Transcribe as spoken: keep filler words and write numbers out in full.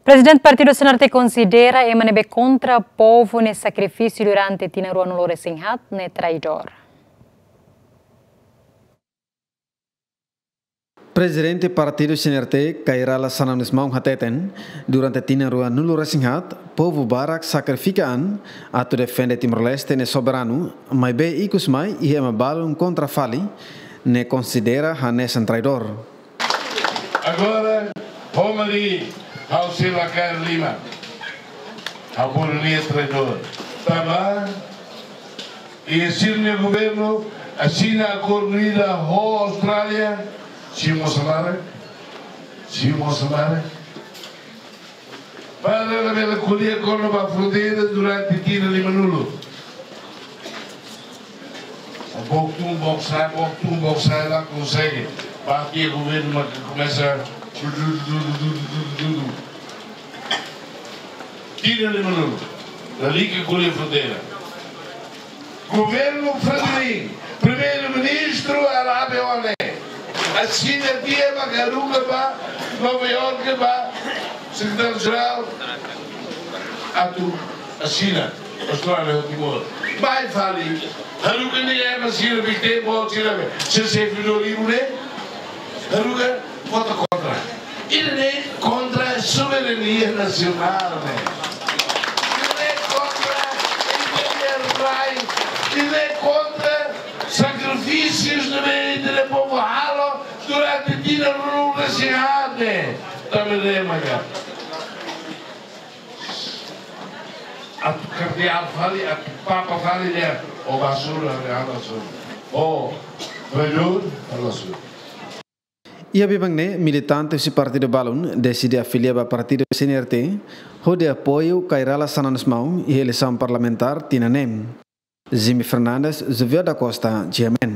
Prezidente Partidu C N R T konsidera ema ne'ebé kontra povu nia sakrifísiu durante tinan ruanulu-resin-haat ne'e traidór. Prezidente Partidu C N R T, Kay Rala Xanana Gusmão hateten, durante tinan ruanulu-resin-haat, povu barak sakrifika an atu defende Timor-Leste nia soberanu, maibé ikus mai iha ema balun kontra fali, ne'e konsidera hanesan traidór. Agora, Romari, ha'u sei la kaer liman. Ha'u bolu nia traidór. Tanba, iha sira-nia governu asina akordu ida ho Austrália, simu mós laran, simu mós laran. Para labele ko'alia kona-ba fronteira durante tinan limanulu. Book tun, book sa'e, book tun, book sa'e, la konsege. Ba iha governu mak komesa. Tinan limanulu. Lalika ko'alia fronteira. Governu Fretilin, Primeiru-Ministru Arábia One. Asina tiha mak haruka ba Nova Iorke ba Sekretáriu-Jerál atu asina Austrália ho Timor. Mai fali, haruka ne'e ema sira bikte bo sira be. Se servidór ibu ne'e, haruka vota kontra. Ida-ne'e kontra soberania nasionál ne'e. Ida-ne'e kontra ida-ne'e rai. Ida-ne'e kontra sakrifísius ne'ebé ita-nia povu halo durante tinan ruanulu-resin-haat ne'e. Tanba ne'e maka atu kardeál fali, atu papa fali dehan: ó basura, ó basura. Ó traidór, ó basura. Iha biban ne'e, militante husi partidu balun deside afilia ba partidu C N R T, hodi apoiu Kay Rala Xanana Gusmão iha eleisaun parlamentár tinan ne'e. Jimmy Fernandes, Xavier da Costa, G M N.